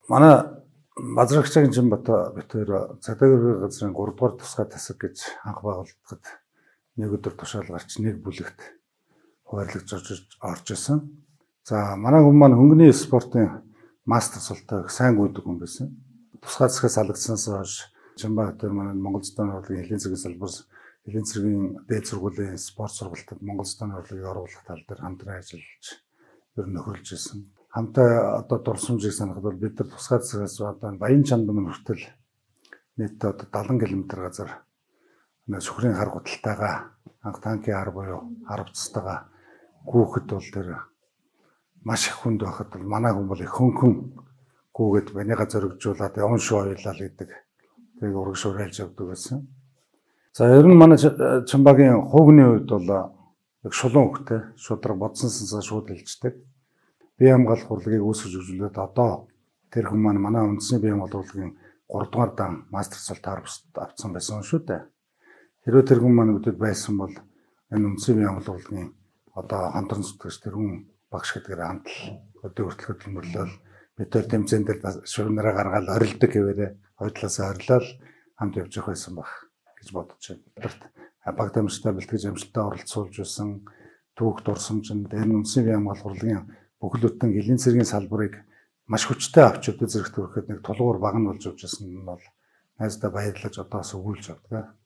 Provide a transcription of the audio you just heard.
Манай Базрагчгийн Жинбата битээр цагдаагийн газрын 3 дугаар тусгай тасаг гэж анх байгуулагдахад нэг өдөр тушаал гарч нэг бүлэгт хуваарлаж орж исэн. За манай хүн маань хөнгөний спортын мастер султай сайн гүйдэг хүн байсан. Тусгай засгаас алгадсанаас хойш Жинбата манай Монгол Зохиолын урлагийн элийн цэгийн салбар элийн цэгийн дээд сургуулийн спорт сургалтад Монгол Зохиолын урлагийг оруулах тал дээр хамтран ажиллаж ер нь нөхөрлж исэн. Хамтаа одоо дурсамжийг санахад бол бид нар тусгай засгаас одоо Баян Чандмын хүртэл нийтдээ одоо 70 км газар сүхрийн хар гуталтайгаа анх танкийн хар буюу хар буцтайгаа гүүхэд бол тэр маш их хүнд байхад бол манай хүн бол их хөнгөн гүүгээд банига зоригжуулаад явн шүү ойлаа гэдэг тэрийг урагшуурайлж явдаг байсан. За ер нь манай Чамбагийн хуугны үед бол яг шулуун хөхтэй шудраг бодсон сансаа шууд хэлждэг. Бие хамгаалах урлагийг үүсгэж өгүүлээд одоо тэр хүн маань манай үндэсний бие хамгаалах урлагийн 3 дугаар дан мастер сул таарвс авсан байсан шүү дээ. Хэрвээ тэр хүн маань өдөрт байсан бол энэ үндэсний бие хамгаалах урлагийн одоо хамтран зүтгэж тэр хүн багш гэдгээр хамтал өдөр хүртэл хөдөлмөрлөөл бид тэр тэмцээн дээр шуурнараа гаргаад орилдог гэвээрээ хойдлоосоо орилол хамт явж явах байсан баг гэж бодож байна. Баг дамжтай бэлтгэж амжилттай оролцуулж байсан түүх дурсамжинд энэ үндэсний бие хамгаалах урлагийн бүхэл бүтэн элийн цэргийн салбарыг маш хүчтэй авч өдөө зэрэгт хүрэхэд нэг тулгуур баг нь болж явж байсан нь бол найздаа баярлаж одоос өгүүлж авдаг.